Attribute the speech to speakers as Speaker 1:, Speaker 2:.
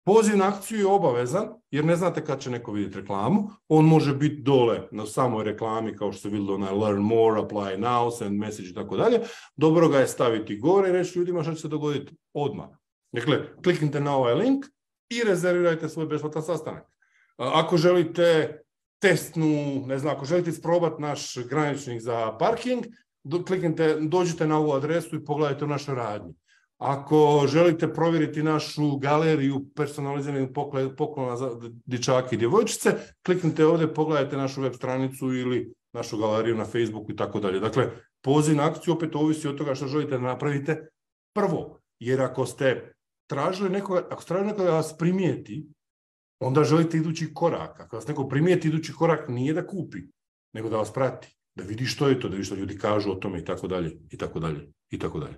Speaker 1: Poziv na akciju je obavezan, jer ne znate kad će neko vidjeti reklamu. On može biti dole na samoj reklami, kao što se vidjelo na learn more, apply now, send message i tako dalje. Dobro ga je staviti gore i reći ljudima što će se dogoditi odmah. Dakle, kliknite na ovaj link i rezervirajte svoj besplatan sastanak. Ako želite testnu, ne znam, ako želite isprobati naš graničnik za parking, dođite na ovu adresu i pogledajte u našoj radnji. Ako želite provjeriti našu galeriju personaliziranih poklona za dječake i djevojčice, kliknite ovdje, pogledajte našu web stranicu ili našu galeriju na Facebooku i tako dalje. Dakle, poziv na akciju opet ovisi od toga što želite da napravite prvo. Jer ako ste tražili nekoga da vas primijeti, onda želite idući korak. Ako vas neko primijeti, idući korak nije da kupi, nego da vas prati, da vidi što je to, da vidi što ljudi kažu o tome i tako dalje, i tako dalje, i tako dalje.